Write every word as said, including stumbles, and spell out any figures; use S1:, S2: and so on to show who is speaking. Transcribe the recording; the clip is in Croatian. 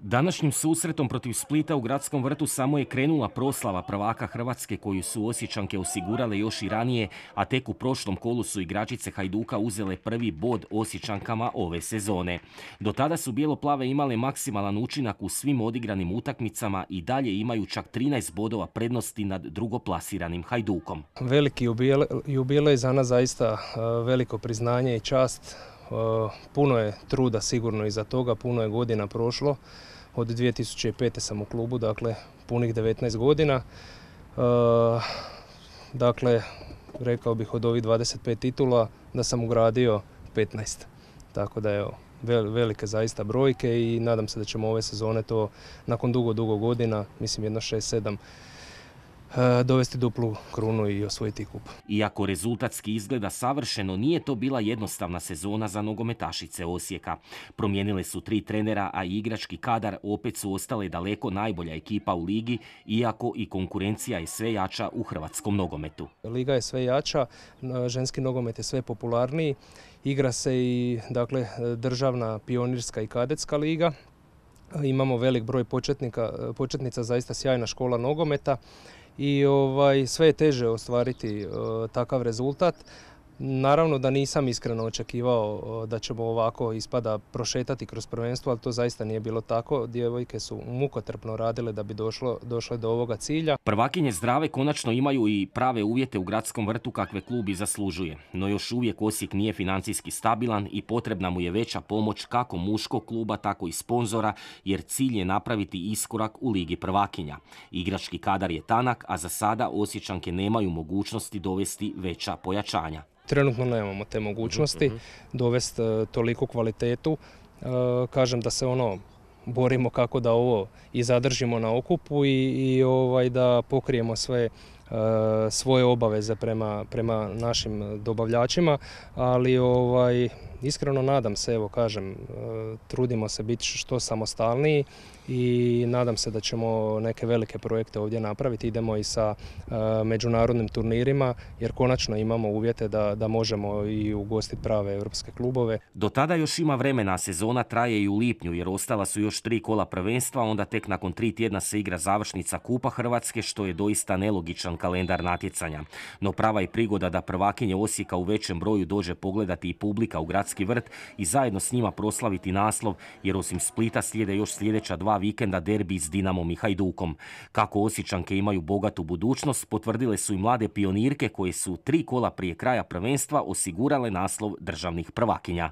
S1: Današnjim susretom protiv Splita u Gradskom vrtu samo je krenula proslava prvaka Hrvatske koju su Osječanke osigurale još i ranije, a tek u prošlom kolu su igračice Hajduka uzele prvi bod Osječankama ove sezone. Do tada su bijeloplave imale maksimalan učinak u svim odigranim utakmicama i dalje imaju čak trinaest bodova prednosti nad drugoplasiranim Hajdukom.
S2: Veliki jubilej za nas, zaista veliko priznanje i čast. Puno je truda sigurno iza toga, puno je godina prošlo. Od dvije tisuće pete sam u klubu, dakle punih devetnaest godina. Dakle, rekao bih od ovih dvadeset pet titula da sam ugradio petnaest. Tako da je velike zaista brojke i nadam se da ćemo ove sezone to nakon dugo, dugo godina, mislim jedno šest sedam, dovesti duplu krunu i osvojiti kup.
S1: Iako rezultatski izgleda savršeno, nije to bila jednostavna sezona za nogometašice Osijeka. Promijenile su tri trenera, a igrački kadar opet su ostale daleko najbolja ekipa u ligi, iako i konkurencija je sve jača u hrvatskom nogometu.
S2: Liga je sve jača, ženski nogomet je sve popularniji, igra se i dakle, državna, pionirska i kadetska liga. Imamo velik broj početnika, početnica, zaista sjajna škola nogometa. I ovaj, sve je teže ostvariti uh, takav rezultat. Naravno da nisam iskreno očekivao uh, da ćemo ovako ispada prošetati kroz prvenstvo, ali to zaista nije bilo tako. Djevojke su mukotrpno radile da bi došlo, došle do ovoga cilja.
S1: Prvakinje zdrave konačno imaju i prave uvjete u Gradskom vrtu kakve klub i zaslužuje. No još uvijek Osijek nije financijski stabilan i potrebna mu je veća pomoć kako muškog kluba, tako i sponzora, jer cilj je napraviti iskorak u Ligi prvakinja. Igrački kadar je tanak, a za sada Osječanke nemaju mogućnosti dovesti veća pojačanja.
S2: Trenutno nemamo te mogućnosti dovesti toliku kvalitetu. Kažem da se ono borimo kako da ovo i zadržimo na okupu i, i ovaj, da pokrijemo sve svoje obaveze prema, prema našim dobavljačima, ali ovaj, iskreno nadam se, evo kažem, trudimo se biti što samostalniji i nadam se da ćemo neke velike projekte ovdje napraviti. Idemo i sa međunarodnim turnirima jer konačno imamo uvjete da, da možemo i ugostiti prave europske klubove.
S1: Do tada još ima vremena, sezona traje i u lipnju jer ostala su još tri kola prvenstva, onda tek nakon tri tjedna se igra završnica Kupa Hrvatske, što je doista nelogičan kalendar natjecanja. No prava je prigoda da prvakinje Osijeka u većem broju dođe pogledati i publika u Gradski vrt i zajedno s njima proslaviti naslov, jer osim Splita slijede još sljedeća dva vikenda derbi s Dinamom i Hajdukom. Kako Osječanke imaju bogatu budućnost, potvrdile su i mlade pionirke koje su tri kola prije kraja prvenstva osigurale naslov državnih prvakinja.